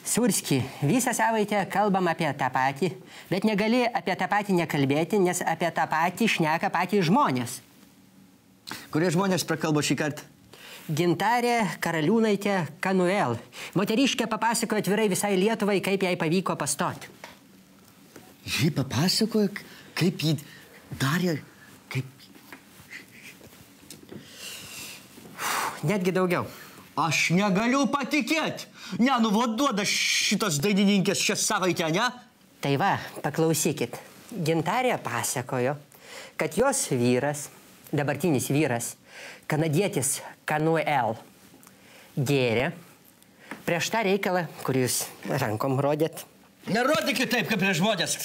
Surski, visą savaitę kalbam apie tą patį, bet negali apie tą patį nekalbėti, nes apie tą patį šneka patys žmonės. Kurie žmonės prakalbo šį kartą? Gintarė Karaliūnaitė Kanuel. Moteriškė papasakojo atvirai visai Lietuvai, kaip jai pavyko pastoti. Ji papasakojo, kaip ji darė, kaip... Netgi daugiau. Aš negaliu patikėti. Ne, nu duoda šitos dainininkės šią savaitę, ne? Tai va, paklausykit. Gintarė pasakojo, kad jos vyras, dabartinis vyras, kanadietis Kanuel, gėrė prieš tą reikalą, kurį jūs rankom rodėt. Nerodykit taip, kaip prieš žmonės.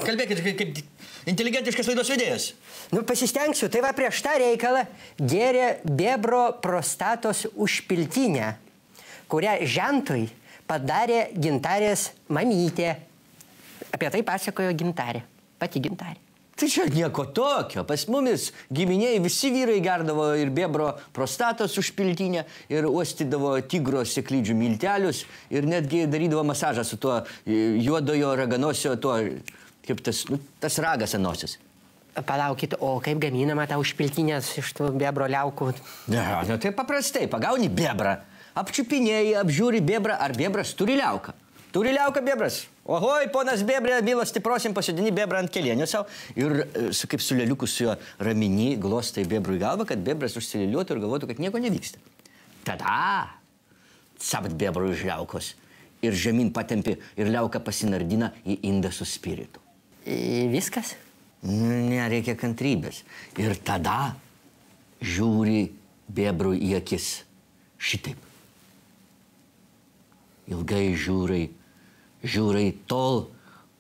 Kalbėkit kaip inteligentiškas laidos vedėjas. Nu, pasistengsiu. Tai va, prieš tą reikalą gėrė bebro prostatos užpiltinę, kurią žentui padarė Gintarės mamytė. Apie tai pasakojo Gintarė. Pati Gintarė. Tai čia nieko tokio. Pas mumis giminėjai visi vyrai gerdavo ir bebro prostatos užpiltinę, ir uostydavo tigro sėklydžių miltelius, ir netgi darydavo masažą su tuo juodojo raganosio, tuo, kaip tas ragas ant nosies. Palaukit, o kaip gaminama ta užpiltinės iš tų bebro liaukų? Ne, tai paprastai. Pagauni bebrą, apčiupinėjai, apžiūri bebrą, ar bebras turi liauką. Turi liauką bebras. Ohoj, ponas bebrė, milas stiprosim, pasodini bebrą ant kelienio savo ir kaip su lėliuku su juo ramini, glostai bebrui galvą, kad bebras užsilėliuotų ir galvotų, kad nieko nevyksta. Tada savat bebrui iš liaukos ir žemyn patempi ir liauka pasinardina į indą su spiritu. Viskas? Ne, reikia kantrybės. Ir tada žiūri bebrui į akis šitaip. Ilgai žiūrai tol,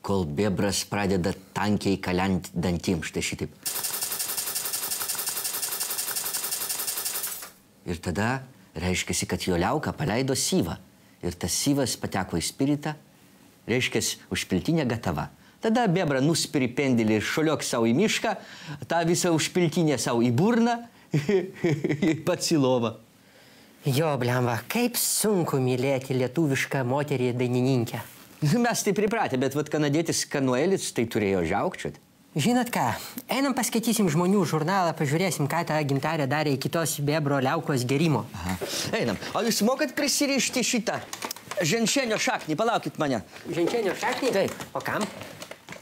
kol bebras pradeda tankiai kalent dantim, štai šitaip. Ir tada reiškiasi, kad jo liauka paleido syvą. Ir tas syvas pateko į spiritą, reiškiasi, užpiltinė gatava. Tada bebra nuspiri pendėlį ir šoliok savo į mišką, tą visą užpiltinę savo į burną ir pats į lovą. Jo, blemba, kaip sunku mylėti lietuvišką moterį dainininkę. Mes tai pripratę, bet vat kanadietis Kanuelis tai turėjo žiaukčiuoti. Žinot ką, einam paskaitysim žmonių žurnalą, pažiūrėsim, ką ta Gintarė darė iki tos bebro liaukos gerimo. Aha. Einam. O jūs mokat prisirišti šitą ženšenio šaknį? Palaukit mane. Ženšenio šaknį? Taip. O kam?